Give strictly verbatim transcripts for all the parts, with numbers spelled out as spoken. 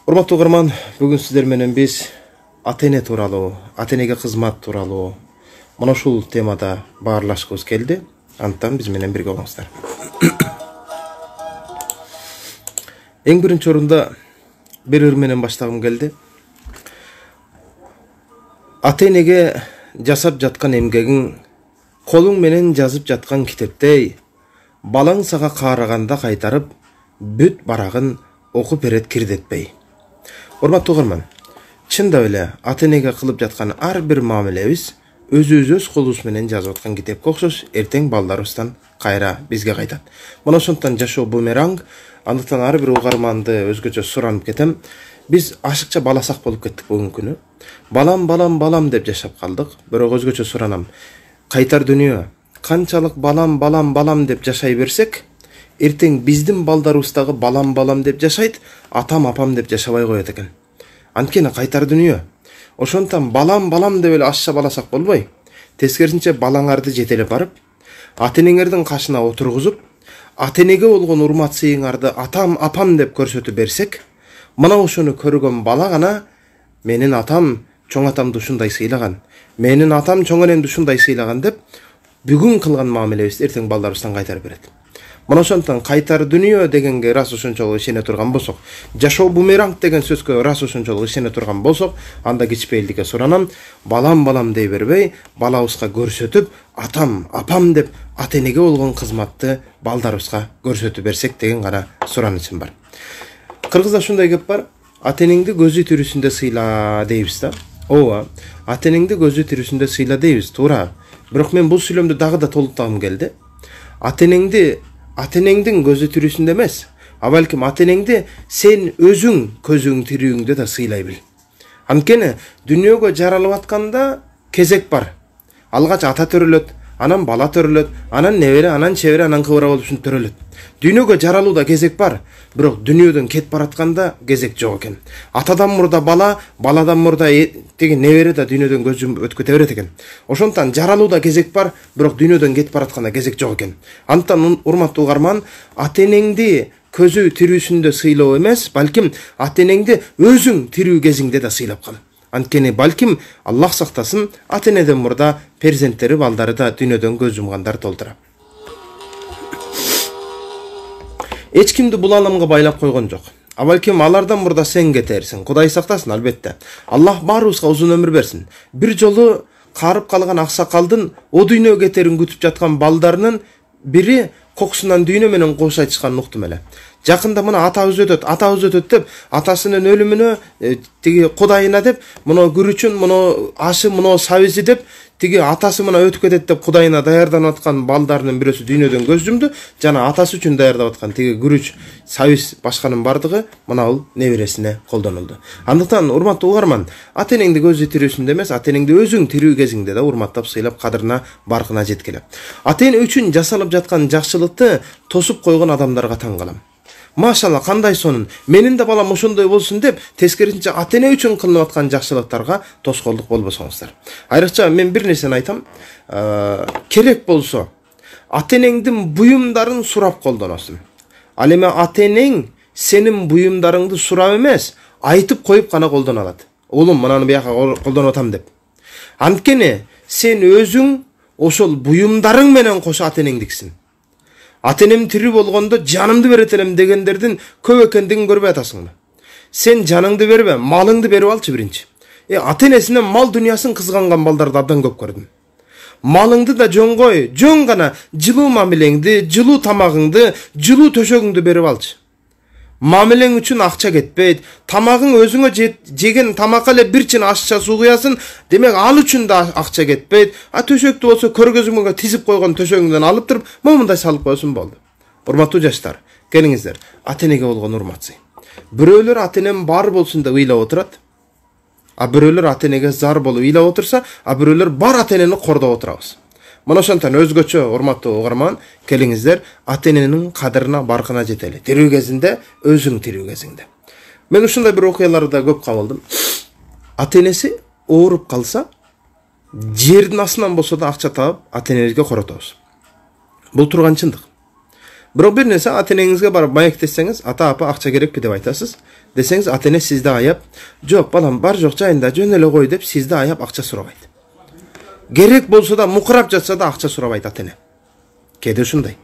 Урматтуу угарман, бүгүн сиздер менен биз ата-эне тууралуу, ата-энеге кызмат тууралуу мына ушул темада баарлашкыбыз келди. Антан биз менен бирге болуңуздар. Эң биринчи орунда бир ыр менен баштагым келди. Ата-энеге жасап жаткан эмгегиң колуң менен жазып жаткан китептей, балаң сага каараганда кайтарып, бүт барагын окуп берет кирдетпей. Урматтуу угарман, чындап эле ата-энеге кылып жаткан ар бир мамилебиз өзүбүз өз колубуз менен жазып аткан китепке окшош, эртең балдарыбыздан кайра бизге кайтат. Мына ошондон жашоо бумеранг, андыктан ар бир угарманды өзгөчө суранып кетем. Биз ашыкча баласак болуп кеттик бүгүнкү күнү. Балам, балам, балам деп жашап калдык. Бирок өзгөчө суранам. Кайтар дүйнө канчалык балам, балам, балам деп жашай берсек, эртең биздин балдарыбыз дагы балам, балам деп жашайт, атам, апам деп жашабай коет экен. Анткени кайтар дүйнө. Ошондон балам, балам деп эле ашча баласак болбой, тескерисинче балаңарды жетелеп барып, ата-энеңердин кашына отургузуп, ата-энеге болгон урмат сыйыңарды атам, апам деп көрсөтүп берсек, мына ошону көргөн бала гана менин атам чоң атамды ушундай сыйлаган, менин атам чоң энемди ушундай сыйлаган деп бүгүн кылган мамилебизди эртең балдарыбыздан кайтарып берет. Мына ошондон кайтар дүйнө дегенге ырас ошончолук ишене турган болсок, жашоо бумеранг деген сөзгө ырас ошончолук ишене турган болсок, анда кичпейилдикке суранам, балам, балам дей бербей, балабызга көрсөтүп, атам, апам деп ата-энеге болгон кызматты балдарыбызга көрсөтүп берсек деген гана суранычым бар. Кыргызда ушундай кеп бар, ата-энеңди көзү тирүүсүндө сыйла дейбиз да. Ооба, ата-энеңди көзү тирүүсүндө сыйла дейбиз, туура. Бирок мен бул сүйлөмдү дагы да толуктагым келди. Ата-энеңди ата-энеңдин көзү тирүүсүндө эмес, а балким ата-энеңди сен өзүң көзүң тирүүңдө да сыйлай бил. Анткени дүйнөгө жаралып атканда кезек бар. Алгач ата төрөлөт, анан бала төрөлөт, анан небере, анан чебере, анан кыбыра болуп ушинтип төрөлөт. Дүйнөгө жаралууда кезек бар, бирок дүйнөдөн кетип баратканда кезек жок экен. Атадан мурда бала, баладан мурда теги небере да дүйнөдөн көз жумуп өтүп кете берет экен. Ошондон жаралууда кезек бар, бирок дүйнөдөн кетип баратканда кезек жок экен. Антан урматтуу угарман, ата-энеңди көзү тирүүсүндө сыйлоо эмес, балким ата-энеңди өзүң тирүү кезиңде да сыйлап кал. Анткени балким Аллах сактасын, ата-энеден мурда перзенттери, балдары да дүйнөдөн көз жумгандар толтура. Эч кимди бул аламга байлап койгон жок. А балким алардан мурда сен кетерсиң. Кудай сактасын, албетте. Аллах баарыбызга узун өмүр берсин. Бир жолу карып калган аксакалдын о дүйнөгө кетерин күтүп жаткан балдарынын бири кокусунан дүйнө менен кош айтышканын уктум эле. Жакында мына атабыз өтөт, атабыз өтөт деп, атасынын өлүмүнө тиги кудайына деп, мына күрүчүн, мына ашы, мына сабизи деп, тиги атасы мына өтүп кетет деп кудайына даярданып аткан балдарынын бирөөсү дүйнөдөн көз жумду, жана атасы үчүн даярдап аткан тиги күрүч, сабиз башканын бардыгы мына бул небересине колдонулду. Андыктан урматтуу угарман, ата-энеңди көзү тирүүсүндө эмес, ата-энеңди өзүң тирүү кезиңде да урматтап, сыйлап, кадырына, баркына жеткиле. Ата-эне үчүн жасалып жаткан жакшылыкты тосуп койгон адамдарга таң калам. Машалла, кандай сонун, менин да балам ошондой болсун деп, тескерисинче ата-эне үчүн кылынып аткан жакшылыктарга тоскоолдук болбосоңуздар. Айрыкча мен бир нерсени айтам, керек болсо ата-энеңдин буюмдарын сурап колдоносуң. Ал эми ата-энең сенин буюмдарыңды сурап эмес, айтып коюп гана колдоно алат. Улум, мынаны бияка колдонуп атам деп. Анткени сен өзүң ошол буюмдарың менен кошо ата-энеңдиксиң. Ата-энем тирүү болгондо жанымды берет элем дегендердин көп экендигин көрбөй атасыңбы? Сен жаныңды бербе, малыңды берип алчы биринчи. Э, ата-энесинен мал дүйнөсүн кызганган балдарды абдан көп көрдүм. Малыңды да жөн кой, жөн гана жылуу мамилеңди, жылуу тамагыңды, жылуу төшөгүңдү берип алчы. Мамилең үчүн акча кетпейт, тамагың өзүңө жеген тамакка эле бир чин ашча суу куясың, демек ал үчүн да акча кетпейт. А төшөктү болсо көргөзмөгө тизип койгон төшөгүңдөн алып туруп, момундай салып койсун болду. Урматтуу жаштар, келиңиздер, ата-энеге болгон урматсый. Бирөөлөр ата-энем бар болсун деп ыйлап отурат, а бирөөлөр ата-энеге зар болуп ыйлап отурса, а бирөөлөр бар ата-энени кордоп отурабыз. Мына ошондон өзгөчө урматтуу угарман, келиңиздер, ата-эненин кадырына, баркына жетели. Тирүү кезинде, өзүң тирүү кезиңде. Мен ушундай бир окуяларда көп кабылдым. Ата-энеси ооруп калса, жердин астынан болсо да акча таап, ата-энебизге коротобуз. Бул турган чындык. Бирок бир нерсе, ата-энеңизге барып маектесеңиз, ата апа акча керекпи деп айтасыз. десеңиз, ата эне сизди аяп, жок балам бар жок жайында жөн эле кой деп сизди аяп акча сурабайт. Керек болсо да мукурап жатса да акча сурабайт ата эне. Кээде ушундай.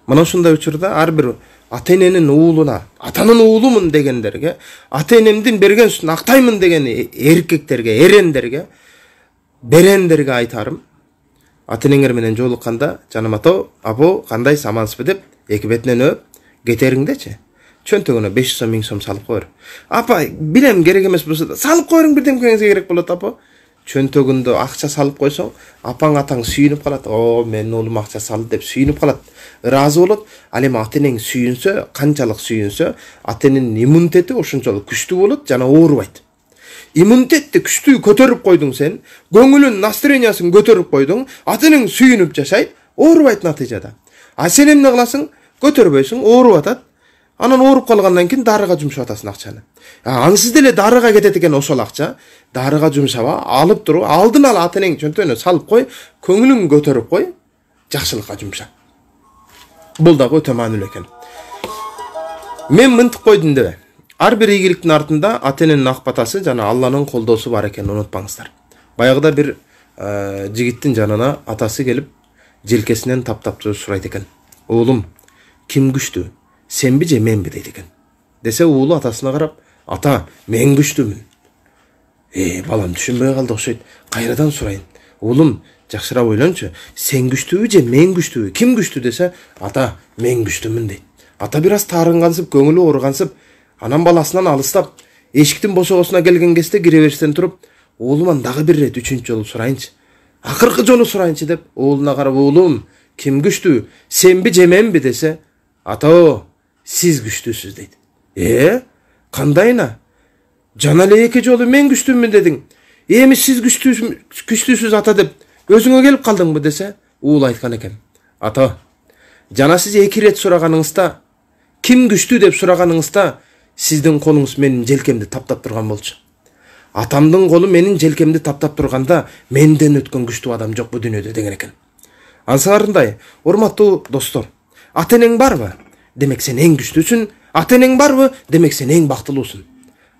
Мына ушундай учурда ар бир ата эненин уулуна, атанын уулумун дегендерге, ата энемдин берген сүтүн актаймын деген эркектерге, эрендерге, берендерге айтарым. Ата энеңер менен жолукканда, жаным ата, апо, кандай амансызбы деп эки бетинен өп, кетериңдечи. Чөнтөгүнө беш жүз сом, миң сом салып коер. Апа, билем керек эмес болсо да салып коериң, бирдемкеңизге керек болот, апа. Чөнтөгүндө акча салып койсоң, апаң атаң сүйүнүп калат. О, менин уулум акча салды деп сүйүнүп калат. Ыраазы болот. Ал эми ата энең сүйүнсө, канчалык сүйүнсө, ата эненин иммунитети ошончолук күчтүү болот жана оорубайт. Иммунитетти күчтүү көтөрүп койдуң сен, көңүлүн, настроениясын көтөрүп койдуң, ата энең сүйүнүп жашайт, оорубайт натыйжада. А сен эмне кыласың? Көтөрбөйсүң, ооруп атат. Анан ооруп калгандан кийин дарыга жумшап атасың акчаны. Ансыз деле дарыга кетет экен ошол акча. Дарыга жумшаба, алып туруп, алдын ала ата энең чөнтөгүнө салып кой, көңүлүн көтөрүп кой, жакшылыкка жумша. Бул дагы өтө маанилүү экен. Мен мынтип койдум дебе. Ар бир ийгиликтин артында ата эненин ак батасы жана Алланын колдоосу бар экенин унутпаңыздар. Баягыда бир жигиттин жанына атасы келип, желкесинен таптап сурайт экен. Уулум, ким күчтүү? Сенби же менби дейт экен. Десе уулу атасына карап, ата, мен күчтүүмүн. Э, балам түшүнбөй калды окшойт. Кайрадан сурайын. Уулум, жакшыраак ойлончу. Сен күчтүүбү же мен күчтүүбү? Ким күчтүү десе, ата, мен күчтүүмүн дейт. Ата бир аз таарынгансып, көңүлү ооругансып, анан баласынан алыстап, эшиктин бошогосуна келген кезде кире бериштен туруп, уулуман дагы бир ирет үчүнчү жолу сурайынчы. Акыркы жолу сурайынчы деп, уулуна карап, уулум, ким күчтүү? Сенби же менби десе, ата, сиз күчтүүсүз дейт. Э, кандайына? Жана эле эки жолу мен күчтүүмүн дедиң. Эми сиз күчтүүсүз ата деп өзүңө келип калдыңбы десе, уул айткан экен. Ата, жана сиз эки ирет сураганыңызда, ким күчтүү деп сураганыңызда, сиздин колуңуз менин желкемди таптап турган болчу. Атамдын колу менин желкемди таптап турганда, менден өткөн күчтүү адам жок бу дүйнөдө деген экен. Ансыңарындай, урматтуу достор, ата энең барбы? Демек сен эң күчтүүсүн. Ата энең барбы? Демек сен эң бактылуусун.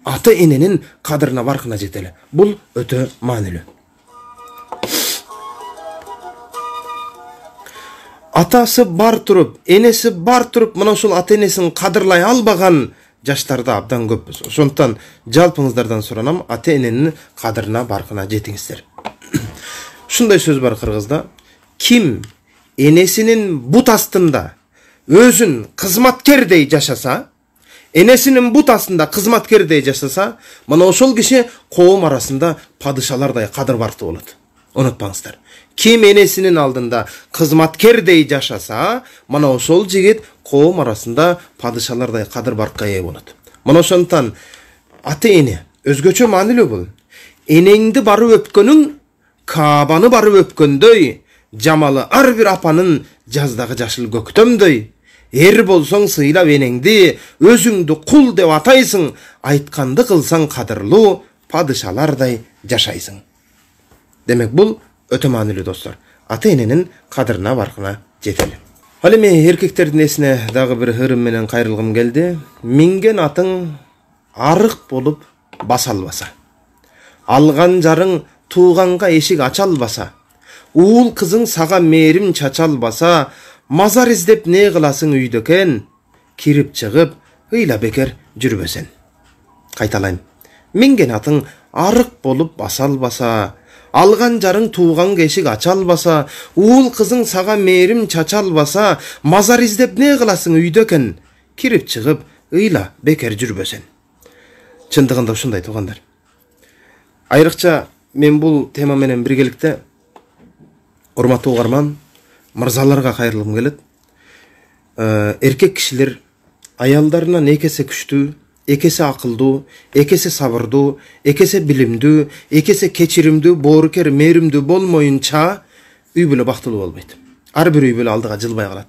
Ата эненин кадырына баркына жетели. Бул өтө маанилүү. Атасы бар туруп, энеси бар туруп, мына ушул ата энесин кадырлай албаган жаштарда абдан көппүз. Ошондуктан жалпыңыздардан суранам, ата эненин кадырына баркына жетиңиздер. Ушундай сөз бар кыргызда. Ким энесинин бут астында өзүн кызматкердей жашаса, энесинин бут астында кызматкердей жашаса, мына ошол киши коом арасында падышалардай кадыр бартуу болот. Унутпаңыздар. Ким энесинин алдында кызматкердей жашаса, мына ошол жигит коом арасында падышалардай кадыр баркка ээ болот. Мына ошондуктан ата эне өзгөчө маанилүү бул. Энеңди барып өпкөнүң Каабаны барып өпкөндөй, жамалы ар бир апанын жаздагы жашыл көктөмдөй. Эр болсоң сыйлап энеңди, өзүңдү кул деп атайсың, айтканды кылсаң кадырлуу, падышалардай жашайсың. Демек бул өтө маанилүү достор. Ата эненин кадырына баркына жетели. Ал эми эркектердин эсине дагы бир ырым менен кайрылгым келди. Минген атың арык болуп баса албаса, алган жарың тууганга эшик ача албаса, уул кызың сага мээрим чача албаса, мазар издеп не кыласың үйдөкен, кирип чыгып ыйла бекер жүрбөсен. Кайталайм. Минген атың арык болуп баса албаса, алган жарың тууганга эшик ача албаса, уул кызың сага мээрим чача албаса, мазар издеп не кыласың үйдөкен, кирип чыгып ыйла бекер жүрбөсен. Чындыгында ушундай туугандар. Айрыкча мен бул тема менен биргеликте урматтуу угарман, мырзаларга кайрылгым келет. Эркек кишилер аялдарынан экесе күчтүү, экесе акылдуу, экесе сабырдуу, экесе билимдүү, экесе кечиримдүү, боорукер, мээримдүү болмоюнча үй бүлө бактылуу болбойт. Ар бир үй бүлө алдыга жылбай калат.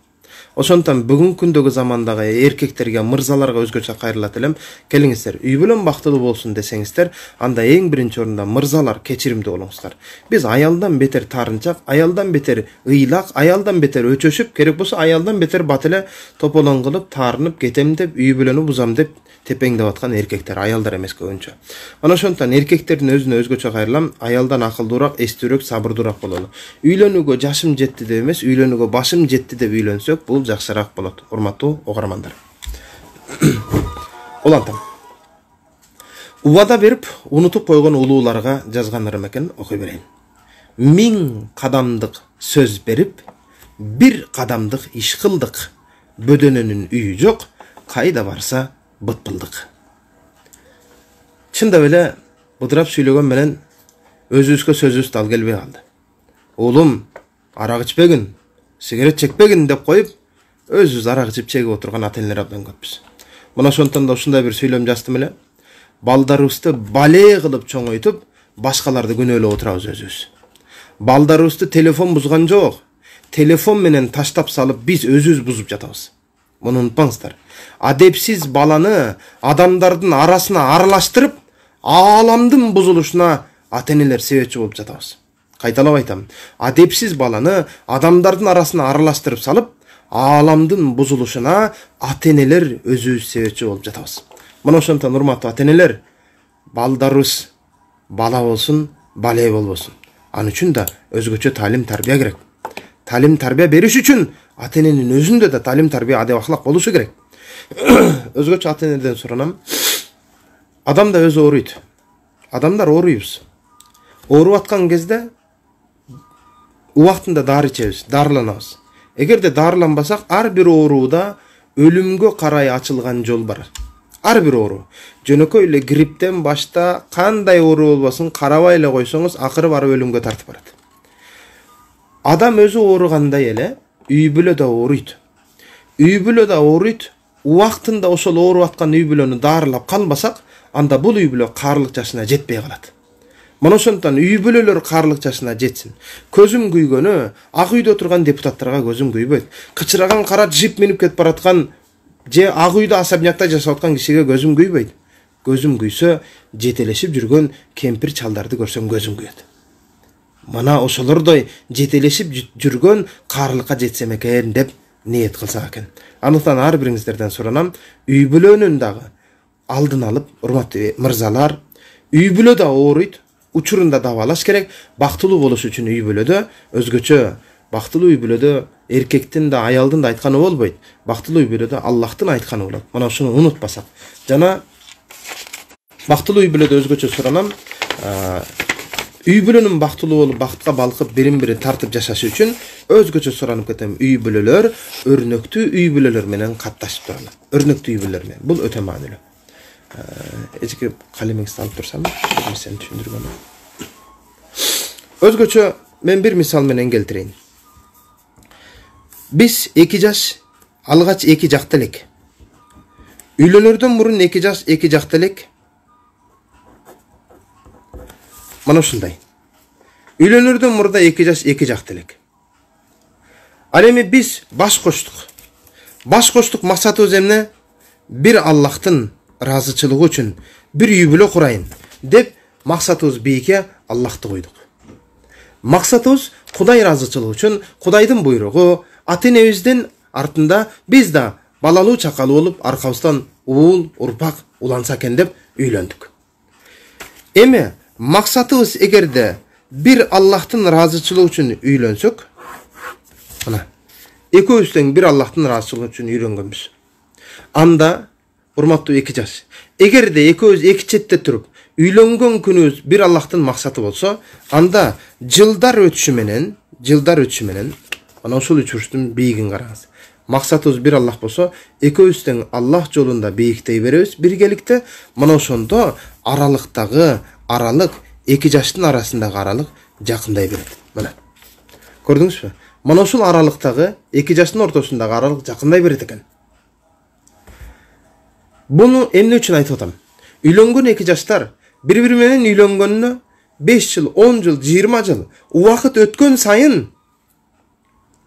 Ошондон бүгүнкү күндөгү замандагы эркектерге, мырзаларга өзгөчө кайрылат элем. Келиңиздер, үй бүлөм бактылуу болсун десеңиздер, анда эң биринчи орунда мырзалар кечиримдүү болуңуздар. Биз аялдан бетер тарынчак, аялдан бетер ыйлак, аялдан бетер өчөшүп, керек болсо аялдан бетер бат эле тополоң кылып, таарынып кетем деп, үй бүлөнү бузам деп тепеңдеп аткан эркектер, аялдар эмес көбүнчө. Ana ошондон эркектердин өзүнө өзгөчө кайрылам, аялдан акылдуураак, эстүүрөөк, сабырдуураак бололу. Үйлөнүүгө жашым жетти деп эмес, үйлөнүүгө башым жетти деп үйлөнсөк, бул жакшыраак болот. Урматтуу угармандар. Улантам. Убада берип, унутуп койгон улууларга жазган ырым экен, окуй берейин. Миң кадамдык сөз берип, бир кадамдык иш кылдык. Бөдөнөнүн үйү жок, кайда барса бытпылдык. Чындап эле быдырап сүйлөгөн менен өзүбүзгө сөзүбүз дал келбей калды. Уулум, арак ичпегин, сигарет чекпегин деп коюп, өзүбүз арак ичип чегип отурган ата-энелер абдан көппүз. Мына ошондон да ушундай бир сүйлөм жаздым эле. Балдарыбызды бале кылып чоңойтуп, башкаларды күнөөлөп отурабыз өзүбүз. Балдарыбызды телефон бузган жок. Телефон менен таштап салып, биз өзүбүз бузуп жатабыз. Муну унутпаңыздар. Адепсиз баланы адамдардын арасына аралаштырып, ааламдын бузулушуна ата-энелер себепчи болуп жатабыз. Кайталап айтам. Адепсиз баланы адамдардын арасына аралаштырып салып, ааламдын бузулушуна ата-энелер өзүбүз себепчи болуп жатабыз. Мына ошондон урматтуу ата-энелер, балдарыбыз бала болсун, бале болбосун. Ал үчүн да өзгөчө талим тарбия керек. Талим тарбия бериш үчүн ата-эненин өзүндө да талим тарбия адеп ахлак болушу керек. Өзгөчө ата-энеден суранам. Адам да өзү ооруйт. Адамдар ооруйбуз. Ооруп аткан кезде убактында дары ичебиз, дарыланабыз. Эгерде дарыланбасак, ар бир ооруда өлүмгө карай ачылган жол бар. Ар бир оору. Жөнөкөй эле грипптен башта кандай оору болбосун карабай эле койсоңуз, акыры барып өлүмгө тартып барат. Адам өзү ооругандай эле үй бүлө да ооруйт. Үй бүлө да ооруйт. Убактында ошол ооруп аткан үй бүлөнү дарылап калбасак, анда бул үй бүлө каарлык жашына жетпей калат. Мына ошондон үй бүлөлөр каарлык жашына жетсин. Көзүм күйгөнү, ак үйдө турган депутаттарга көзүм күйбөйт. Кычыраган кара джип минип кетип бараткан же ак үйдө особнякта жашап аткан кишиге көзүм күйбөйт. Көзүм күйсө, жетелешип жүргөн кемпир чалдарды көрсөм көзүм күйөт. Мына ошолордой жетелешип жүргөн каарлыкка жетсем экен деп ниет кылсак экен. Андыктан ар бириңиздерден суранам, үй бүлөнүн дагы алдын алып, урматтуу мырзалар, үй бүлө да ооруйт, учурунда дабалаш керек. Бактылуу болуш үчүн үй бүлөдө өзгөчө бактылуу үй бүлөдө эркектин да аялдын да айтканы болбойт. Бактылуу үй бүлөдө Аллахтын айтканы болот. Мына ушуну унутпасак. Жана бактылуу үй бүлөдө өзгөчө суранам, үй бүлөнүн бактылуу болуп, бактка балкып, бирин-бири тартып жашашы үчүн өзгөчө суранып кетем. Үй бүлөлөр өрнөктүү үй бүлөлөр менен катташып туралы. Өрнөктүү үй бүлөлөр менен. Бул өтө маанилүү. Эжеке калемиңизди алып турсам, сени түшүндүргөн. Өзгөчө мен бир мисал менен келтирейин. Биз эки жаш алгач эки жакта элек. Үйлөнөрдөн мурун эки жаш эки жакта элек. Мана ушундай. Үйлөнөрдөн мурда эки жаш эки жакта элек. Ал эми биз баш коштук. Баш коштук максатыбыз эмне? Бир Аллахтын ыраазычылыгы үчүн бир үй бүлө курайын деп максатыбыз бийикке Аллахты койдук. Максатыбыз Кудай ыраазычылыгы үчүн, Кудайдын буйругу, ата-энебиздин артында биз да балалуу чакалуу болуп, аркабыздан уул, урпак уланса экен деп үйлөндүк. Эми максатыбыз эгерде бир Аллахтын ыраазычылыгы үчүн үйлөнсөк, мына экөөбүз тең бир Аллахтын ыраазычылыгы үчүн үйлөнгөнбүз. Анда урматтуу эки жаш, эгерде экөөбүз эки четте туруп үйлөнгөн күнүбүз бир Аллахтын максаты болсо, анда жылдар өтүшү менен, жылдар өтүшү менен, мына ушул үч бурчтун бийигин караңыз. Максатыбыз бир Аллах болсо, экөөбүз тең Аллах жолунда бийиктей беребиз биргеликте. Мына ошондо аралыктагы аралык, эки жаштын арасындагы аралык жакындай берет. Мына. Көрдүңүзбү? Мына ушул аралыктагы эки жаштын ортосундагы аралык жакындай берет экен. Буну эмне үчүн айтып атам? Үйлөнгөн эки жаштар бири-бири менен үйлөнгөнүнө беш жыл, он жыл, жыйырма жыл убакыт өткөн сайын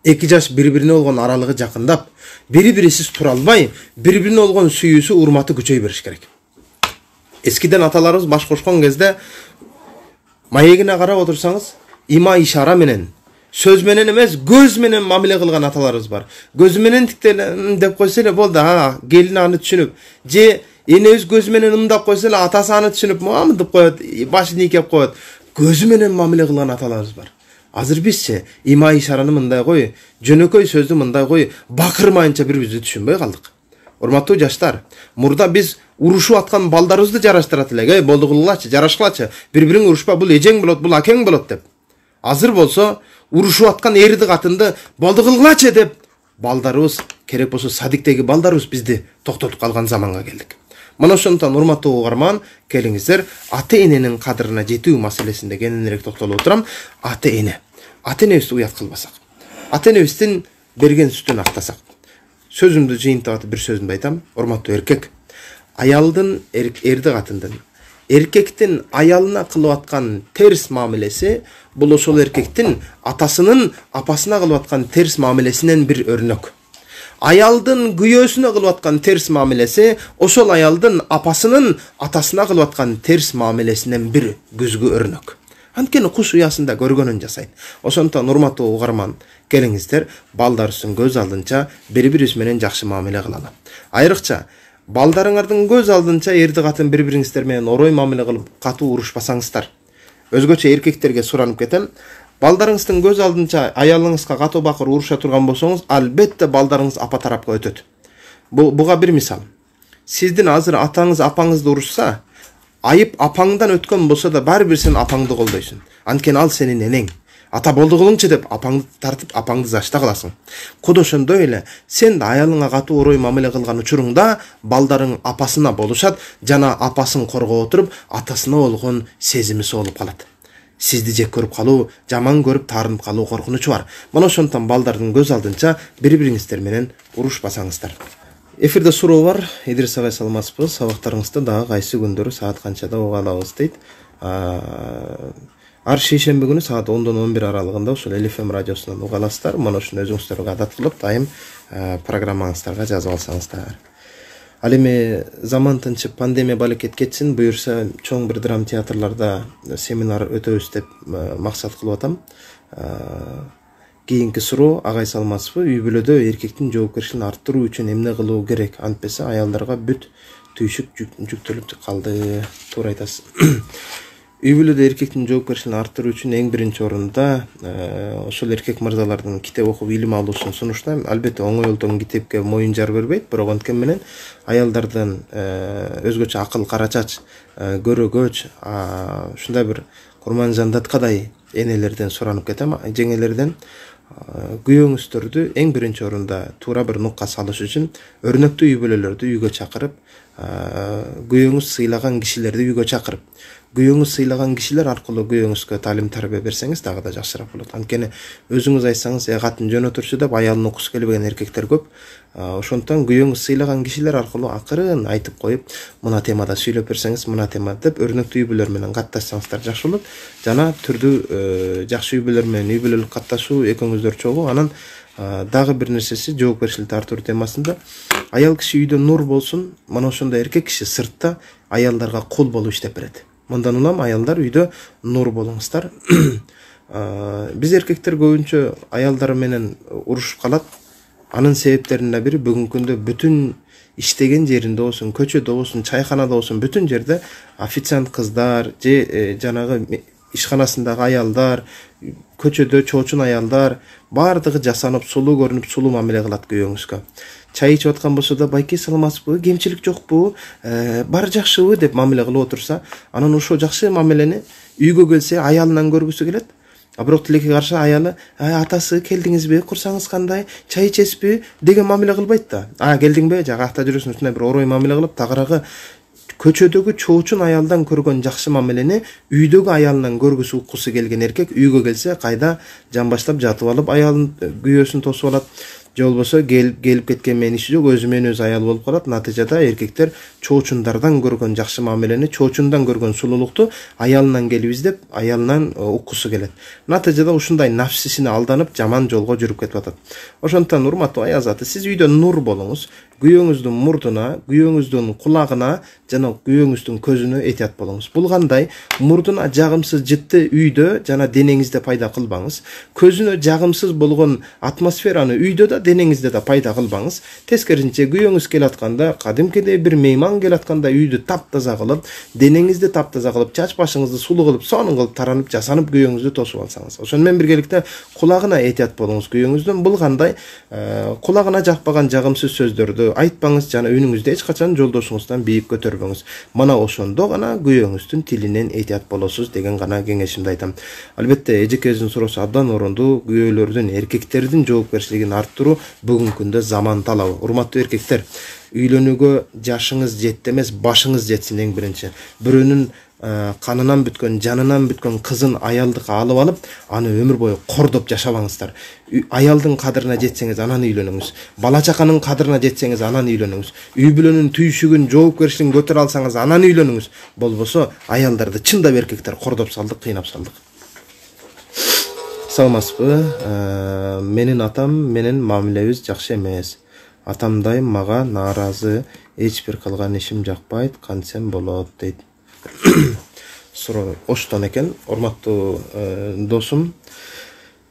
эки жаш бири бирине болгон аралыгы жакындап, бири бирисиз тура албай, бири бирине болгон сүйүүсү, урматы күчөй бериш керек. Эскиден аталарыбыз баш кошкон кезде маегине карап отурсаңыз, има ишара менен, сөз менен эмес, көз менен мамиле кылган аталарыбыз бар. Көзү менен тиктеле деп койсо эле болду, а келин аны түшүнүп, же энебиз көзү менен ымдап койсо эле атасы аны түшүнүп, мамындып коет, башын ийкеп коет. Көзү менен мамиле кылган аталарыбыз бар. Азыр бизчи има ишараны мындай кой, жөнөкөй сөздү мындай кой, бакырмайынча бири-бирибизди түшүнбөй калдык. Урматтуу жаштар, мурда биз урушуп аткан балдарыбызды жараштырат элек, эй болду кылгылачы, жарашкылачы, бири-бириң урушпа, бул эжең болот, бул акең болот деп. Азыр болсо урушуп аткан эрди катынды болду кылгылачы деп балдарыбыз, керек болсо садиктеги балдарыбыз бизди токтотуп калган заманга келдик. Мына ошондон урматтуу угарман, келиңиздер ата-эненин кадырына жетүү маселесинде кененирээк токтолуп отурам. Ата-эне. Ата-энебизди уят кылбасак, ата-энебиздин берген сүтүн актасак. Сөзүмдү жыйынтып атып бир сөзүмдү айтам. Урматтуу эркек, аялдын эрди катындын, эркектин аялына кылып аткан терс мамилеси бул ошол эркектин атасынын апасына кылып аткан терс мамилесинен бир өрнөк. Аялдын күйөөсүнө кылып аткан терс мамилеси ошол аялдын апасынын атасына кылып аткан терс мамилесинен бир күзгү өрнөк. Анткени куш уясында көргөнүн жасайт. Ошондон урматтуу угарман, келиңиздер балдарыбыздын көз алдынча бири-бирибиз менен жакшы мамиле кылалы. Айрыкча балдарыңардын көз алдынча эрди катын бири-бириңиздер менен орой мамиле кылып катуу урушпасаңыздар. Өзгөчө эркектерге суранып кетем. Балдарыңыздын көз алдынча аялыңызга катуу бакыр уруша турган болсоңуз, албетте балдарыңыз апа тарапка өтөт. Бу буга бир мисал. Сиздин азыр атаңыз апаңызды урушса, айып апаңдан өткөн болсо да баары бир сен апаңды колдойсуң. Анткени ал сенин энең. Ата болду кылыңчы деп апаңды тартып, апаңды зашта кыласың. Куду ошондой эле сен да аялыңа катуу орой мамиле кылган учуруңда балдарың апасына болушат, жана апасын коргоп отуруп, атасына болгон сезими соолуп калат. Сизди жек көрүп калуу, жаман көрүп таарынып калуу коркунучу бар. Мына ошондон балдардын көз алдынча бири-бириңиздер менен урушпасаңыздар. Эфирде суроо бар. Идрис агай саламатсызбы? Сабактарыңызды дагы кайсы күндөрү саат канчада уга алабыз дейт. Ар шейшемби күнү саат ондон он бир аралыгында ушул Эл Эф Эм радиосунан уга аласыздар. Мына ушуну өзүңүздөргө адат кылып, дайым программаңыздарга жазып алсаңыздар. Ал эми заман тынчып, пандемия балекет кетсин, буюрса чоң бир драм театрларда семинар өтөбүз деп максат кылып атам. Кийинки суроо, агай саламатсызбы? Үй бүлөдө эркектин жоопкерчилигин арттыруу үчүн эмне кылуу керек? Антпесе аялдарга бүт түйшүк жүктөлүп калды. Туура айтасыз. Үй бүлөдө эркектин жоопкерчилигин арттыруу үчүн эң биринчи орунда ошол эркек мырзалардын китеп окуп илим алуусун сунуштайм. Албетте оңой олтон китепке моюн жар бербейт, бирок анткени менен аялдардан өзгөчө акыл карачач, көрөгөч, ушундай бир курман жандаткадай энелерден суранып кетем, жеңелерден. Күйөөңүздөрдү эң биринчи орунда туура бир нукка салыш үчүн өрнөктүү үй бүлөлөрдү үйгө чакырып, күйөөңүз сыйлаган кишилерди үйгө чакырып, күйөөңүз сыйлаган кишилер аркылуу күйөөңүзгө таалим тарбия берсеңиз дагы да жакшыраак болот. Анткени өзүңүз айтсаңыз, э катын жөн отурчу деп аялын окуусу келбеген эркектер көп. Ошондон күйөөңүз сыйлаган кишилер аркылуу акырын айтып коюп, мына темада сүйлөп берсеңиз, мына темада деп өрнөктүү үй бүлөлөр менен катташсаңыздар жакшы болот. Жана түрдүү жакшы үй бүлөлөр менен үй бүлөлүк катташуу экөөңүздөр чогуу. Анан дагы бир нерсеси жоопкерчиликти арттыруу темасында аял киши үйдө нур болсун, мына ошондой эркек киши сыртта аялдарга кул болуп иштеп берет. Мындан улам аялдар үйдө нур болуңуздар. Биз эркектер көбүнчө аялдар менен урушуп калат. Анын себептеринин бири бүгүнкү күндө бүтүн иштеген жеринде болсун, көчөдө болсун, чайканада болсун, бүтүн жерде официант кыздар же жанагы ишканасындагы аялдар, көчөдө чоочун аялдар баардыгы жасанып, сулуу көрүнүп, сулуу мамиле кылат күйөөңүзгө. Чай ичип аткан болсо да, байке саламатсызбы, кемчилик жокпу, баары жакшыбы деп мамиле кылып отурса, анан ошол жакшы мамилени үйгө келсе аялынан көргүсү келет. А бирок тилекке каршы аялы, атасы келдиңизби, курсаңыз кандай, чай ичесизби деген мамиле кылбайт да. А келдиңби, жагакта жүрөсүң, ушундай бир орой мамиле кылып, тагыраагы көчөдөгү чоочун аялдан көргөн жакшы мамилени үйдөгү аялынан көргүсү уккусу келген эркек үйгө келсе кайда жан баштап жатып алып аялын күйөөсүн тосуп алат. же болбосо келип келип кеткен менен иши жок, өзү менен өзү аял болуп калат. Натыйжада эркектер чоочундардан көргөн жакшы мамилени, чоочундан көргөн сулуулукту аялынан келип издеп, аялынан уккусу келет. Натыйжада ушундай нафсисине алданып, жаман жолго жүрүп кетип атат. Ошондуктан урматтуу аял заты, сиз үйдө нур болуңуз. Күйөөңүздүн мурдуна, күйөөңүздүн кулагына жана күйөөңүздүн көзүнө этият болуңуз. Бул кандай? Мурдуна жагымсыз жытты үйдө жана денеңизде пайда кылбаңыз. Көзүнө жагымсыз болгон атмосфераны үйдө да, денеңизде да пайда кылбаңыз. Тескерисинче күйөөңүз келатканда, кадимкидей бир мейман келатканда үйдү таптаза кылып, денеңизди таптаза кылып, чач башыңызды сулуу кылып, сонун кылып таранып, жасанып күйөөңүздү тосуп алсаңыз. Ошону менен биргеликте кулагына этият болуңуз күйөөңүздүн. Бул кандай? Кулагына жакпаган жагымсыз сөздөрдү айтпаңыз жана үнүңүздү эч качан жолдошуңуздан бийик көтөрбөңүз. Мана ошондо гана күйөөңүздүн тилинен этият болосуз деген гана кеңешимди айтам. Албетте эжекебиздин суроосу абдан орондуу. Күйөөлөрдүн, эркектердин жоопкерчилигин арттыруу бүгүнкү күндө заман талабы. Урматтуу эркектер, үйлөнүүгө жашыңыз жетти эмес, башыңыз жетсин эң биринчи. Бирөөнүн канынан бүткөн, жанынан бүткөн кызын аялдыкка алып алып, аны өмүр бою кордоп жашабаңыздар. Аялдын кадырына жетсеңиз, анан үйлөнүңүз. Бала чаканын кадырына жетсеңиз, анан үйлөнүңүз. Үй бүлөнүн түйшүгүн, жоопкерчилигин көтөрө алсаңыз, анан үйлөнүңүз. Болбосо аялдарды чындап эркектер кордоп салдык, кыйнап салдык. Саламатсызбы? Менин атам менен мамилебиз жакшы эмес. Атамдай мага нааразы, эч бир кылган ишим жакпайт, кантсем болот дейт. Суроо оштон экен. Урматтуу досум,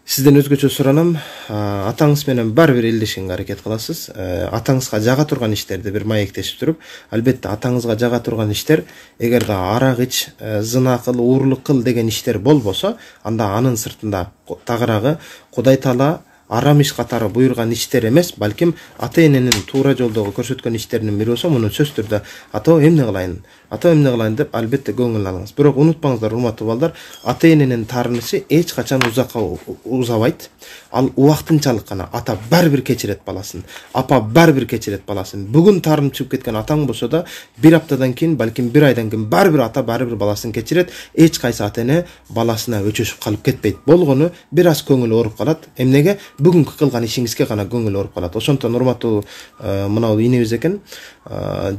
сизден өзгөчө суранам. Атаңыз менен бар бир элдешкенге аракет кыласыз. Атаңызга жага турган иштерди бир маектешип туруп, албетте атаңызга жага турган иштер, эгерде арак ич, зына кыл, уурлук кыл деген иштер болбосо, анда анын сыртында тагыраагы Кудай Таала арам иш катары буйруган иштер эмес, балким ата эненин туура жолдогу көрсөткөн иштеринин бири болсо, муну сөзсүз түрдө ата эмне кылайын, ата эмне кылайын деп албетте көңүл алыңыз. Бирок унутпаңыздар, урматтуу балдар, ата эненин таарынышы эч качан узакка узабайт. Ал убактынчалык гана. Ата баары бир кечирет баласын, апа баары бир кечирет баласын. Бүгүн таарынып чыгып кеткен атаң болсо да, бир аптадан кийин, балким бир айдан кийин баары бир ата баары бир баласын кечирет. Эч кайсы ата эне баласына өчөшүп калып кетпейт. Болгону бир аз көңүл ооруп калат. Эмнеге? Бүгүнкү кылган ишиңизге гана көңүл ооруп калат. Ошондон урматтуу мынау инебиз экен,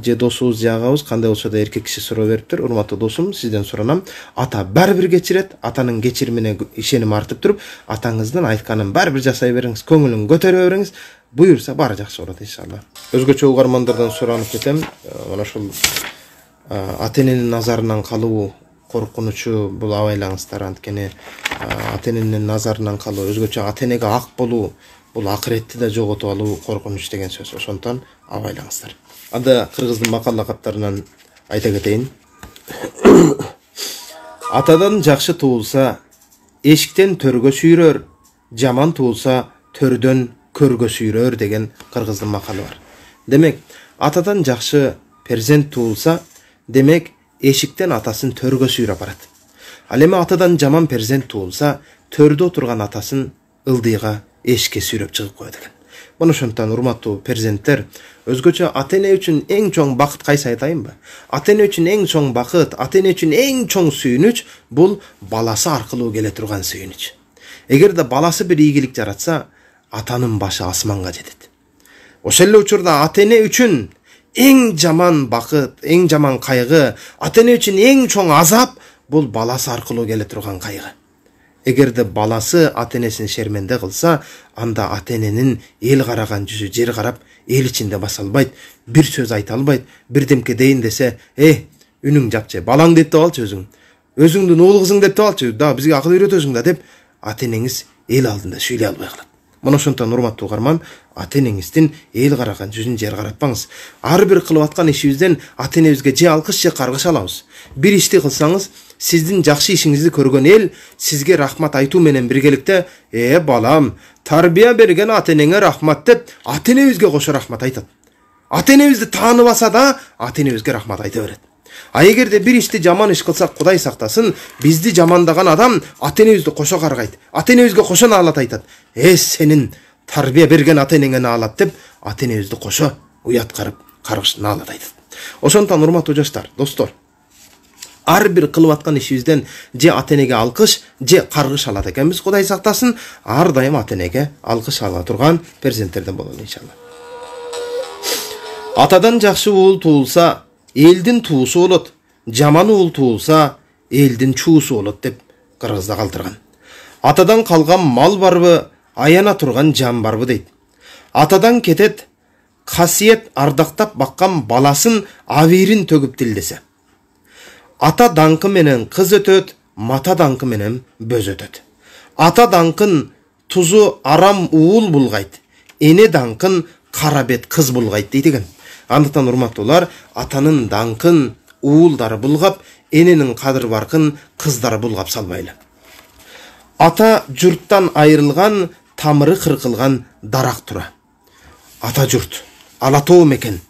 же досубуз, же агабыз, кандай болсо да эркек киши суроо бериптир. Урматтуу досум, сизден суранам. Ата баары бир кечирет. Атанын кечиримине ишеним артып туруп, атаңыздын айтканын баары бир жасай бериңиз, көңүлүн көтөрө бериңиз. Буюрса баары жакшы болот иншалла. Өзгөчө угармандардан суранып кетем. Мына ошол ата эненин назарынан калуу коркунучу бул абайлаңыздар. Анткени ата эненин назарынан калуу, өзгөчө ата энеге ак болуу, бул акыретти да жоготуп алуу коркунуч деген сөз. Ошондон абайлаңыздар. Анда кыргыздын макал лакаптарынан айта кетейин. Атадан жакшы туулса, эшиктен төргө сүйрөр, жаман туулса, төрдөн көргө сүйрөр деген кыргыздын макалы бар. Демек, атадан жакшы перзент туулса, демек эшиктен атасын төргө сүйрөп барат. Ал эми атадан жаман перзент туулса, төрдө отурган атасын ылдыйга эшикке сүйрөп чыгып коет экен. Мына ошондон урматтуу перзенттер, өзгөчө ата эне үчүн эң чоң бакыт кайсы айтайынбы? Ата эне үчүн эң чоң бакыт, ата эне үчүн эң чоң сүйүнүч бул баласы аркылуу келе турган сүйүнүч. Эгерде баласы бир ийгилик жаратса, атанын башы асманга жетет. Ошол эле учурда ата эне үчүн эң жаман бакыт, эң жаман кайгы, ата эне үчүн эң чоң азап бул баласы аркылуу келе турган кайгы. Эгерде баласы ата энесин шерменде кылса, анда ата эненин эл караган жүзү жер карап, эл ичинде баса албайт, бир сөз айта албайт, бирдемке дейин десе, "Э, үнүң жапчы, балаң деп алчы өзүң. Өзүңдүн уул кызың деп алчы, да бизге акыл үйрөтөсүң да" деп ата энеңиз эл алдында сүйлөй албай калат. Мына ошондон урматтуу угарман, ата энеңиздин эл караган жүзүн жер каратпаңыз. Ар бир кылып аткан ишибизден ата энебизге же алкыш же каргыш алабыз. Бир ишти кылсаңыз, сиздин жакшы ишиңизди көргөн эл сизге рахмат айтуу менен биргеликте, "Э балам, тарбия берген ата энеңе рахмат" деп ата энебизге кошо рахмат айтат. Ата энебизди тааныбаса да, ата энебизге рахмат айта берет. А эгерде бир ишти жаман иш кылсак, Кудай сактасын, бизди жамандаган адам ата энебизди кошо каргайт. Ата энебизге кошо наалат айтат. "Э, сенин тарбия берген ата энеңе наалат" деп ата энебизди кошо уят карып, каргыш наалат айтат. Ошондон урматтуу жаштар, достор, ар бир кылып аткан ишибизден же ата энеге алкыш, же каргыш алат экенбиз. Кудай сактасын, ар дайым ата энеге алкыш ала турган перзенттерден бололу иншалла. Атадан жакшы уул туулса, элдин туусу болот. Жаман уул туулса, элдин чуусу болот деп кыргызда калтырган. Атадан калган мал барбы, аяна турган жан барбы дейт. Атадан кетет касиет ардактап баккан баласын абийирин төгүп тилдесе. Ата даңкы менен кыз өтөт, мата даңкы менен бөз өтөт. Ата даңкын тузу арам уул булгайт, эне даңкын кара бет кыз булгайт дейт экен. Андыктан урматтуулар, атанын даңкын уулдары булгап, эненин кадыр баркын кыздары булгап салбайлы. Ата журттан айрылган, тамыры кыркылган дарак тура. Ата журт, ала тоо мекен.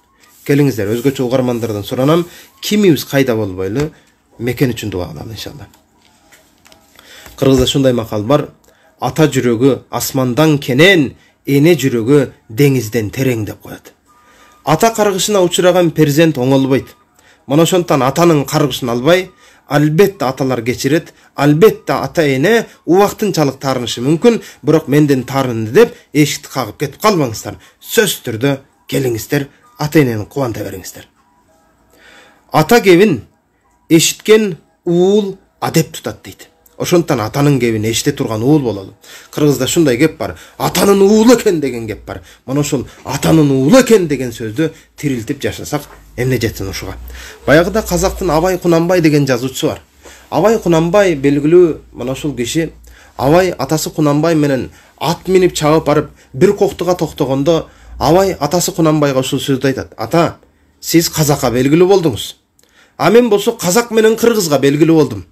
Келиңиздер, өзгөчө угармандардан суранам, кимибиз кайда болбойлу мекен үчүн дуа кылалы иншалла. Кыргызда шундай макал бар: ата жүрөгү асмандан кенен, эне жүрөгү деңизден терең деп коет. Ата каргышына учураган перзент оңолбойт. Мына ошондон атанын каргышын албай, албетте аталар кечирет, албетте ата эне убактынчалык таарынышы мүмкүн, бирок менден таарынды деп эшикти кагып кетип калбаңыздар. Сөзсүз түрдө келиңиздер, ата энени кубанта бериңиздер. Ата кебин эшиткен уул адеп тутат дейт. Ошондон атанын кебин эшите турган уул бололу. Кыргызда шундай кеп бар: атанын уулу экен деген кеп бар. Мына ошол атанын уулу экен деген сөздү тирилтип жашасак, эмне жетсин ушуга. Баягыда казактын Абай Кунанбай деген жазуучусу бар. Абай Кунанбай белгилүү мына ошол киши. Абай атасы Кунанбай менен ат минип чабып барып бир коктуга токтогондо, Абай атасы Кунанбайга ушул сөздү айтат: ата, сиз казакка белгилүү болдуңуз. А мен болсо казак менен кыргызга белгилүү болдум.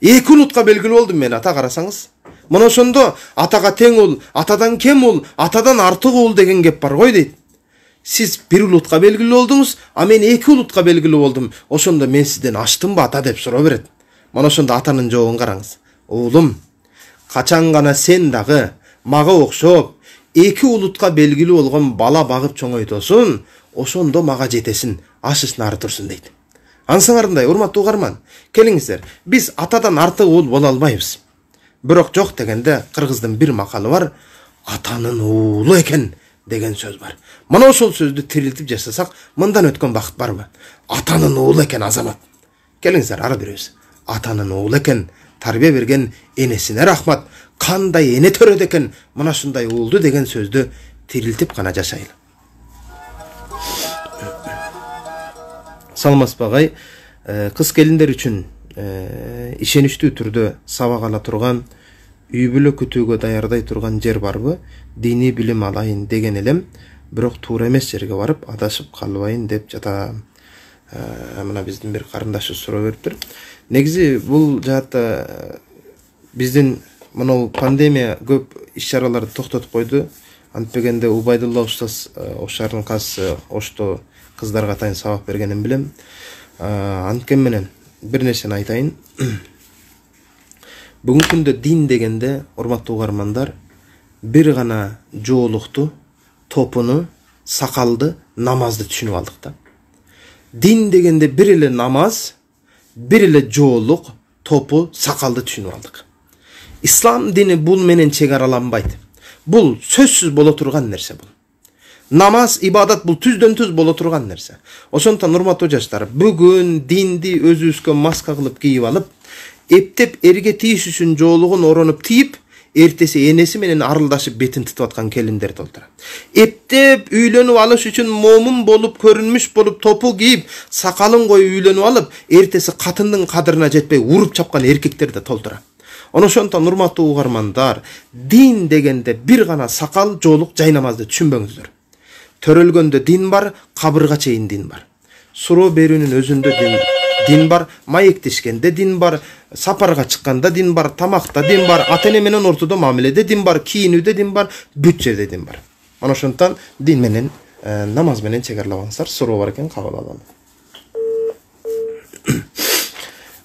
Эки улутка белгилүү болдум мен, ата, карасаңыз. Мына ошондо атага тең уул, атадан кем уул, атадан артык уул деген кеп бар гой дейт. Сиз бир улутка белгилүү болдуңуз, а мен эки улутка белгилүү болдум. Ошондо мен сизден аштымбы ата деп суроо берет. Мына ошондо атанын жообун караңыз. Уулум, качан гана сен дагы мага окшоп эки улутка белгилүү болгон бала багып чоңойтосуң, ошондо мага жетесин, ашысын ары турсун дейт. Ансыңарындай, урматтуу угарман, келиңиздер, биз атадан артык уул боло албайбыз. Бирок жок дегенде кыргыздын бир макалы бар: атанын уулу экен деген сөз бар. Мына ошол сөздү тирилтип жасасак, мындан өткөн бакыт барбы? Атанын уулу экен азамат. Келиңиздер, ары беребиз. Атанын уулу экен, тарбия берген энесине рахмат. Кандай эне төрөдө экен, мына ушундай уулду деген сөздү тирилтип гана жашайлы. Саламатсызбы агай? Кыз келиндер үчүн ишеничтүү түрдө сабак ала турган, үй бүлө күтүүгө даярдай турган жер барбы? Диний билим алайын деген элем, бирок туура эмес жерге барып адашып калбайын деп жатам. Мына биздин бир карындашыбыз суроо бериптир. Негизи бул жаатта биздин мына пандемия көп иш-чараларды токтотуп койду. Антпегенде Убайдулла устаз Ошардын казысы Ошто кыздарга атайын сабак бергенин билем. Анткен менен бир нерсени айтайын. Бүгүнкү күндө дин дегенде, урматтуу угармандар, бир гана жоолукту, топуну, сакалды, намазды түшүнүп алдык да. Дин дегенде бир эле намаз, бир эле жоолук, топу, сакалды түшүнүп алдык. Ислам дини бул менен чегараланбайт. Бул сөзсүз боло турган нерсе бул. Намаз, ибадат бул түздөн түз боло турган нерсе. Ошондон урматтуу жаштар, бүгүн динди өзүбүзгө маска кылып кийип алып, эптеп эрге тийиш үчүн жоолугун оронуп тийип, эртеси энеси менен арылдашып бетин тытып аткан келиндер толтура. Эптеп үйлөнүп алыш үчүн момун болуп, көрүнмүш болуп, топу кийип, сакалын коюп үйлөнүп алып, эртеси катындын кадырына жетпей уруп чапкан эркектер да толтура. Ошондон урматтуу угармандар, дин дегенде бир гана сакал, жоолук, жай намазды түшүнбөңүздөр. Төрөлгөндө дин бар, кабырга чейин дин бар. Суроо берүүнүн өзүндө дин, дин бар, маектешкенде дин бар, сапарга чыкканда дин бар, тамакта дин бар, ата-эне менен ортодо мамиледе дин бар, кийинүүдө дин бар, бүт жерде дин бар. Мана ошондон дин менен, намаз менен чегарлабаңыздар. Суроо бар экен, кабыл алалы.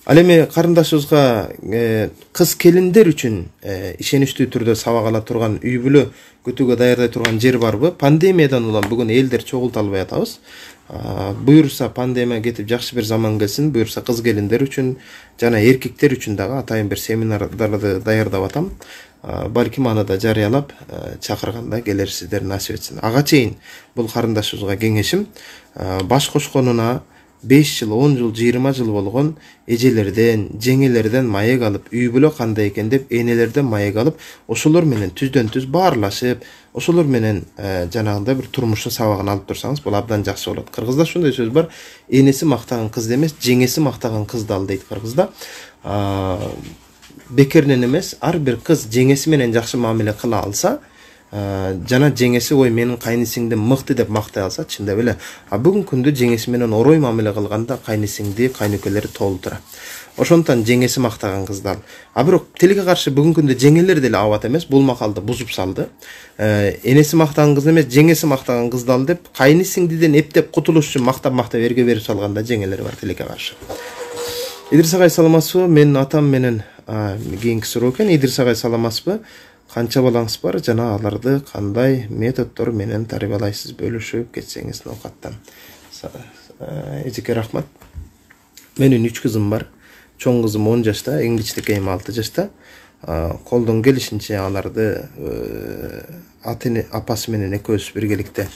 Ал эми карындашыбызга кыз келиндер үчүн ишеничтүү түрдө сабак ала турган үй бүлө күтүүгө даярдай турган жер барбы? Пандемиядан улам бүгүн элдер чогулта албай атабыз. Буюрса пандемия кетип жакшы бир заман келсин, буюрса кыз келиндер үчүн жана эркектер үчүн дагы атайын бир семинардарды даярдап атам. Балким аны да жарыялап чакырганда келерсиздер, насип этсин. Ага чейин бул карындашыбызга кеңешим, баш кошконуна беш жыл, он жыл, жыйырма жыл болгон эжелерден, жеңелерден маек алып, үй бүлө кандай экен деп энелерден маек алып, ошолор менен түздөн түз баарлашып, ошолор менен жанагындай бир турмуштун сабагын алып турсаңыз, бул абдан жакшы болот. Кыргызда ушундай сөз бар: энеси мактаган кызды эмес, жеңеси мактаган кызды ал дейт кыргызда. Бекеринен эмес, ар бир кыз жеңеси менен жакшы мамиле кыла алса, жана жеңеси ой менин кайнысиңдим мыкты деп мактай алса, чындап эле а бүгүнкү күндө жеңеси менен орой мамиле кылганда кайнысиңди, кайнөкөлөрү толтура. Ошондуктан жеңеси мактаган кызды ал. А бирок тилге каршы бүгүнкү күндө жеңелер деле абат эмес, бул макалды бузуп салды. Энеси мактаган кыз эмес, жеңеси мактаган кызды ал деп кайнысиңдиден эптеп кутулуш үчүн мактап-мактап эрге берип салганда жеңелер бар тилекке каршы. Идирис агай саламатсызбы? Менин атам менен кийинки суроо экен. Идирис агай саламатсызбы? Канча балаңыз бар жана аларды кандай методдор менен тарбиялайсыз, бөлүшүп кетсеңиз ноокаттан. Эжеке рахмат. Менин үч кызым бар. Чоң кызым он жашта, эң кичинекейим алты жашта. Колдон келишинче аларды аты апасы менен экөөбүз биргеликте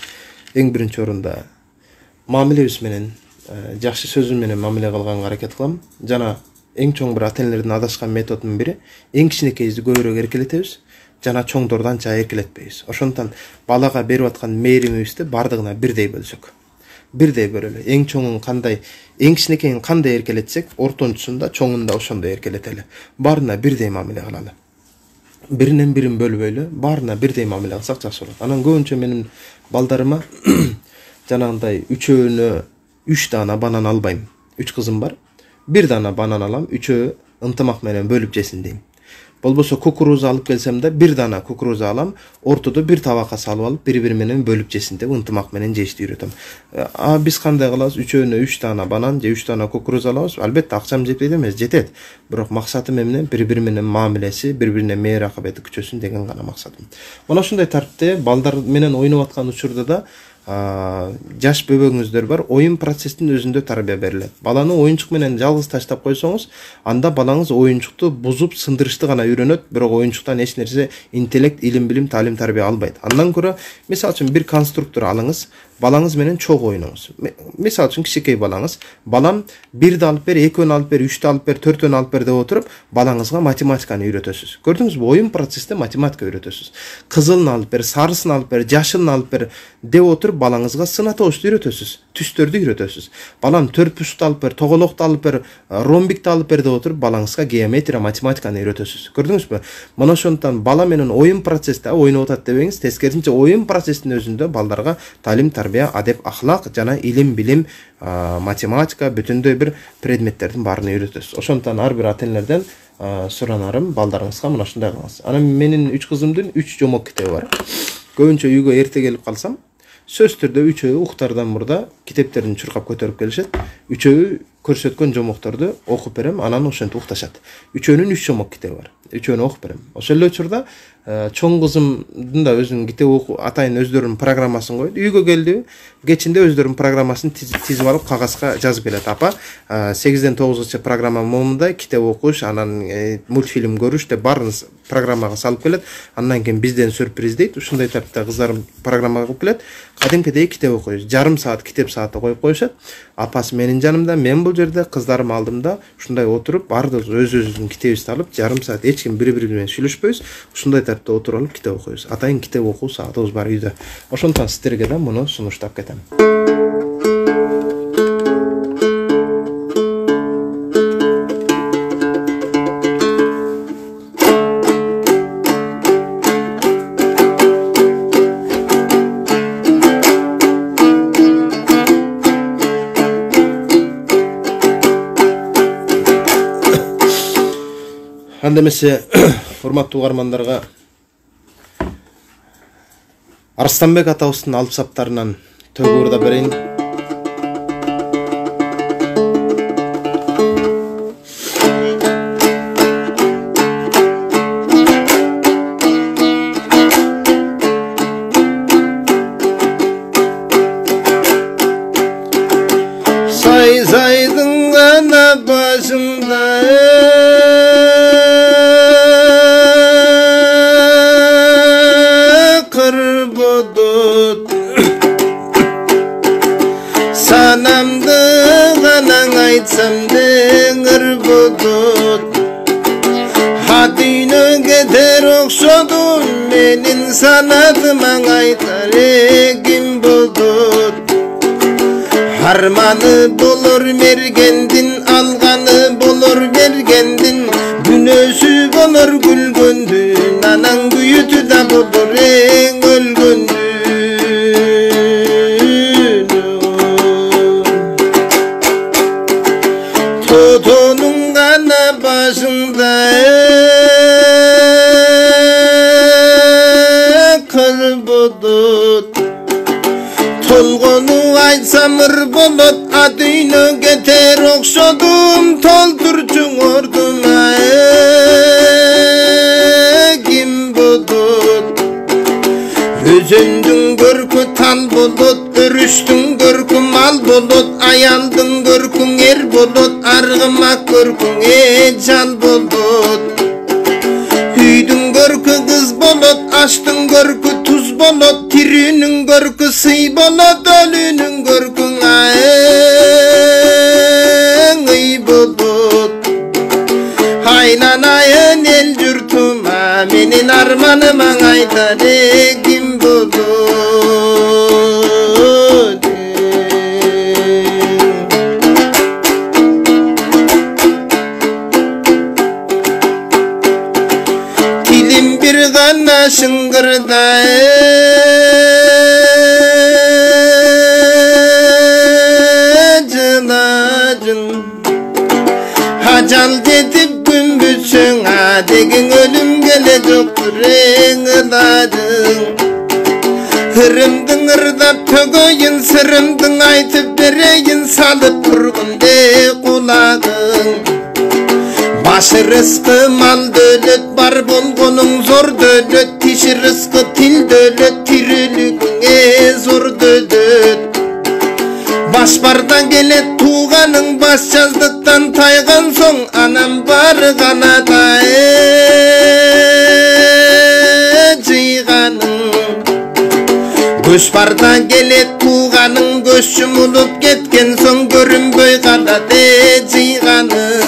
эң биринчи орунда мамилебиз менен, жакшы сөзү менен мамиле кылганга аракет кылам. Жана эң чоң бир ата-энелердин адашкан методунун бири эң кичинекейибизди көбүрөөк эркелетебиз, жана чоңдорду анча эркелетпейбиз. Ошондуктан балага берип аткан мээримибизди бардыгына бирдей бөлсөк, бирдей бөлөлү. Эң чоңун кандай, эң кичинекейин кандай эркелетсек, ортончусун да чоңун да ошондой эркелетели. Баарына бирдей мамиле кылалы. Биринен бирин бөлбөйлү, баарына бирдей мамиле кылсак жакшы болот. Анан көбүнчө менин балдарыма жанагындай үчөөнө үч даана банан албайм. Үч кызым бар. Бир даана банан алам, үчөө ынтымак менен бөлүп жесин дейм. Болбосо кукуруза алып келсем да бир даана кукуруза алам, ортодо бир табакка салып алып, бири-бири менен бөлүп жесин деп ынтымак менен жешти үйрөтөм. А биз кандай кылабыз? Үчөөнө үч даана банан же үч даана кукуруза алабыз. Албетте акчам жетпейт эмес, жетет. Бирок максатым эмне? Бири-бири менен мамилеси, бири-бирине мээр акыбети күчөсүн деген гана максатым. Мына ушундай тартипте балдар менен ойноп аткан учурда да жаш бөбөгүңүздөр бар, оюн процесстин өзүндө тарбия берилет. Баланы оюнчук менен жалгыз таштап койсоңуз, анда балаңыз оюнчукту бузуп, сындырышты гана үйрөнөт, бирок оюнчуктан эч нерсе, интеллект, илим, билим, талим, тарбия албайт. Андан көрө, мисалы үчүн бир конструктор алыңыз, балаңыз менен чогуу ойноңуз. Мисалы үчүн кичинекей балаңыз, балам бирди алып бер, экөөнү алып бер, үчтү алып бер, төртөөнү алып бер деп отуруп, балаңызга математиканы үйрөтөсүз. Көрдүңүзбү? Оюн процессте математика үйрөтөсүз. Кызылын алып бер, сарысын алып бер, жашылын алып бер деп отуруп, балаңызга сынатоочту үйрөтөсүз, түстөрдү үйрөтөсүз. Балам төртбурчту алып бер, тоголокту алып бер, ромбикти алып бер деп отуруп, балаңызга геометрия, математиканы үйрөтөсүз. Көрдүңүзбү? Мына ошондуктан бала менен оюн процессте ойноп атат дебеңиз, тескерисинче оюн процесстин өзүндө балдарга талим, тарбия, адеп, ахлак жана илим, билим, математика, бүтүндөй бир предметтердин баарын үйрөтөсүз. Ошондуктан ар бир ата-энелерден суранарым, балдарыңызга мына ушундай кылыңыз. Анан менин үч кызымдын үч жомок китеби бар. Көбүнчө үйгө эрте келип калсам, сөз түрдө үчөө уктардан мурда китептерин чуркап көтөрүп келишет. Үчөө көрсөткөн жомокторду окуп берем, анан ошентип укташат. Үчөөнүн үч жомок китеби бар. Үчөөнү окуп берем. Ошол эле учурда чоң кызымдын да өзүнүн китеп окуу атайын өздөрүнүн программасын коет. Үйгө келди, кечинде өздөрүнүн программасын тизип алып кагазга жазып келет. Апа, сегизден тогузгача программа момундай, китеп окуш, анан мультфильм көрүш деп баарын программага салып келет. Андан кийин бизден сюрприз дейт. Ушундай тартипте кыздарым программага кылып келет. Кадимкидей китеп окуйбуз. Жарым саат китеп сааты коюп коюшат. Апасы менин жанымда, мен бул жерде, кыздарым алдымда ушундай отуруп, баардыгыбыз өз-өзүбүздүн китебибизди алып, жарым саат эч ким бири-бири менен сүйлөшпөйбүз. Ушундай тартипте отуруп алып китеп окуйбуз. Атайын китеп окуу саатыбыз бар үйдө. Ошондуктан сиздерге да муну сунуштап кетем. Анда эмесе, урматтуу угармандарга Арстанбек атабыздын алып саптарынан төгүп урда берейин. başında kır budut sanamdı ganan aytsam denger budut Hadini geter okşodun menin sanatıma aytar egim budut Harmanı bolur mergendin alganı bolur bergendin Günösü bolur gülgöndün anan büyütü da bolur en ölgöndün Totonun gana başında kır budut Tolgonu aytsam ır bolot adını geter okşodum toldurçun orduma egim budut Özündün görkü tal bulut örüştün görkü mal bulut ayaldın görkün er bulut argımak görkün ecel bulut Hüydün görkü kız bulut açtın görkü tuz bulut tirinin görkü sıy bulut ölünün görkün ayın bulut Haylanayın el yurtuma menin armanıma aytar egim bulut Tilim bir gana şıngırda cılacın Hacal detip gün bütsün adegin ölüm gelecektir en ıladın Hırımdın ırdap tögöyün sırımdın aytıp bereyin salıp turgun de kulağın Başı rızkı mal dölet var bolgonun zor dölet Tişi rızkı til dölet tirilüğüne zor dölet Baş bardan gelet tuğanın baş yazdıktan taygan son Anam var kanada cıyganın Göç bardan gelet tuğanın göçüm olup ketken son Görünböy kanada cıyganın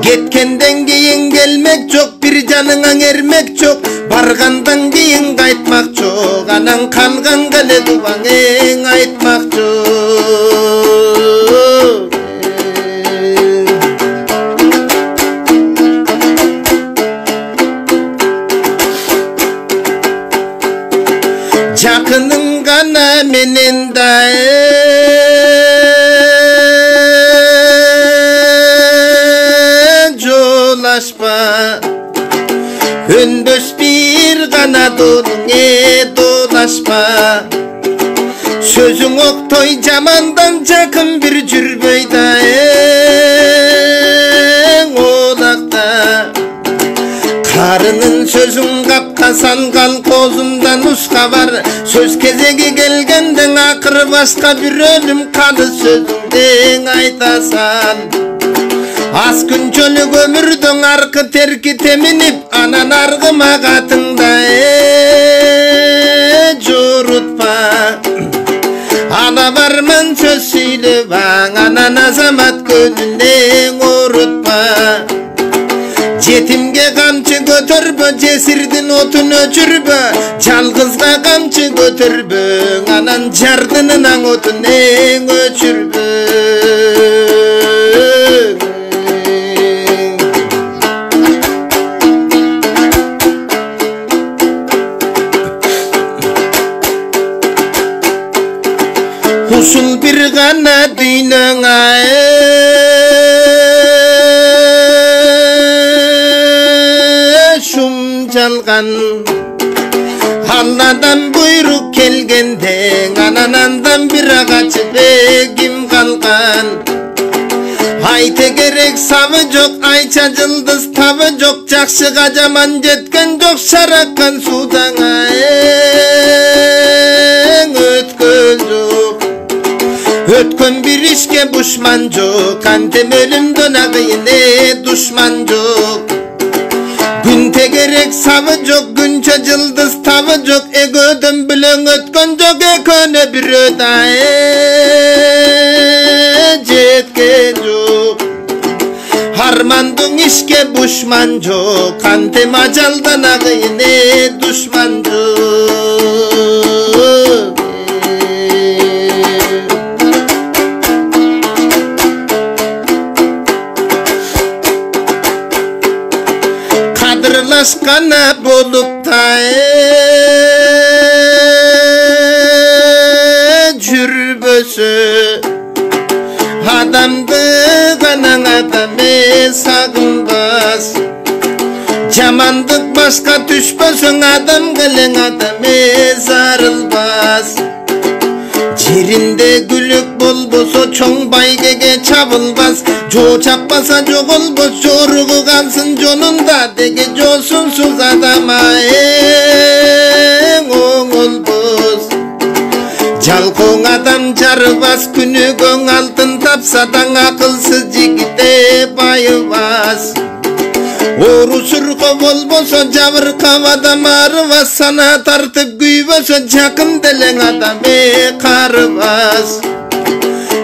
Getkenden keyin gelmek çok bir canına ermek çok Bargandan keyin kaytmak çok Anan kalgan gale duvan en aytmak çok Jakının gana menen da dolaşma Hündüz bir gana dolunge dolaşma Sözün oktoy camandan jakın bir cürbeyda en olakta Karının sözün kapkasan kal kozundan uska var Söz kezegi gelgenden akır başka bir ölüm kalı sözünden aytasan Az gün çölü gömürdün arkı terki teminip Anan argıma katında eee curutma Ana varman söz söyle van Anan azamat gönlünden urutma Yetimge kamçı götürbö cesirdin otun öçürbö Çalgızga kamçı götürbö Anan jardınınan otun en öçürbö Usul bir gana dinana şum çalgan Allah'dan buyruk kelgende ananandan bir ağaçı begim kalkan Ayte gerek savı yok ayça yıldız tavı yok Jakşı kacaman jetken yok şarakkan sudan ötkön yok Өткөн bir işke düşman жок, кантем өлүмдөн агыйыне душман жок. Gün tegerek savı жок, günçe yıldız tavı жок, egödön bilen ötkön жок, ekönö bir ödaye jetken жок. Harmandın işke düşman жок, kantем ajaldan agıйыне душман жок. Kadırlaşkana bolup da jürbösü, adamdı ganan adamı sagınbaz. Jamandık başka düşbösün, adam gelen adamı zarılbaz. Yerinde gülük bolboso çoğ baygege çabılbaz. Jo çapmasa jogolbos, jorugu kalsın jonunda dege josunsuz adama en oğulbos. Jalkoң adam jarыбас, күнүгөң алтын тапсадан акылсыз жигите байыбас. Ору сурко болбосо жабыркап адам арыбас, сана тартып күйбөсө жакын делең адам карыбас.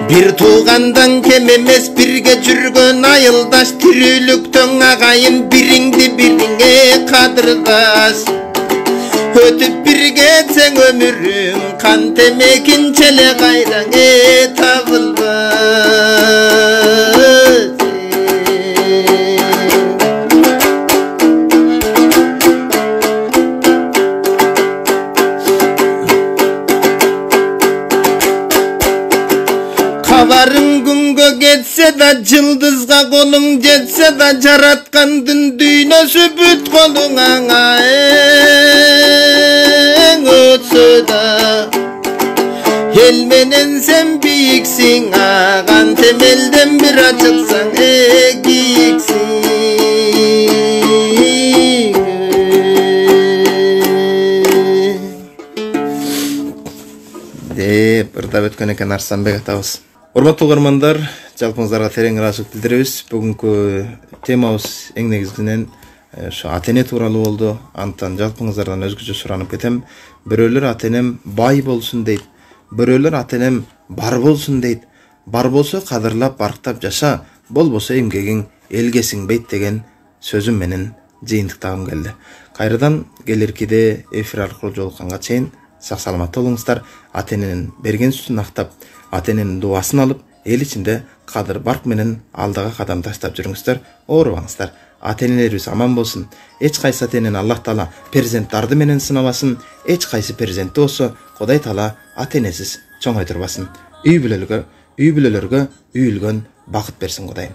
Bir tuğandan kem emes, birge жүргөн айылдаш, тирүүлүктөн агайын бириңди бириңе кадырдаш. Өтүп бирге этсең өмүрүң, кантем экинчеле кайраңе табылбас. Kabarın günge getse da, yıldızga kolun jetse da, jaratkandın düynösü büt koluna en ötse da. El menen sen biyiksin, ağan temelden bir açılsan e giyiksin. Деп ырдап өткөн экен Арсанбек атабыз. Урматтуу угармандар, жалпыңыздарга терең ыраазычылык билдиребиз. Бүгүнкү темабыз эң негизинен ошо ата-эне тууралуу болду. Антан жалпыңыздардан өзгөчө суранып кетем. Бирөөлөр ата-энем бай болсун дейт, бирөөлөр ата-энем бар болсун дейт. Бар болсо кадырлап, барктап жаша, болбосо эмгегиң элге сиңбейт деген сөзүм менен жыйынтыктагым келди. Кайрадан келиркиде эфир аркылуу жолукканга чейин сак саламатта болуңуздар. Ата-эненин берген сүтүн актап, ата-эненин дубасын алып, эл ичинде кадыр барк менен алдыга кадам таштап жүрүңүздөр, оорубаңыздар. Ата-энелерибиз аман болсун. Эч кайсы ата-энени Аллах Таала перзенттарды менен сынабасын. Эч кайсы перзентти болсо Кудай Таала ата-энесиз чоңойтурбасын. Үй бүлөлөргө, үй бүлөлөргө үйүлгөн бакыт берсин Кудайым.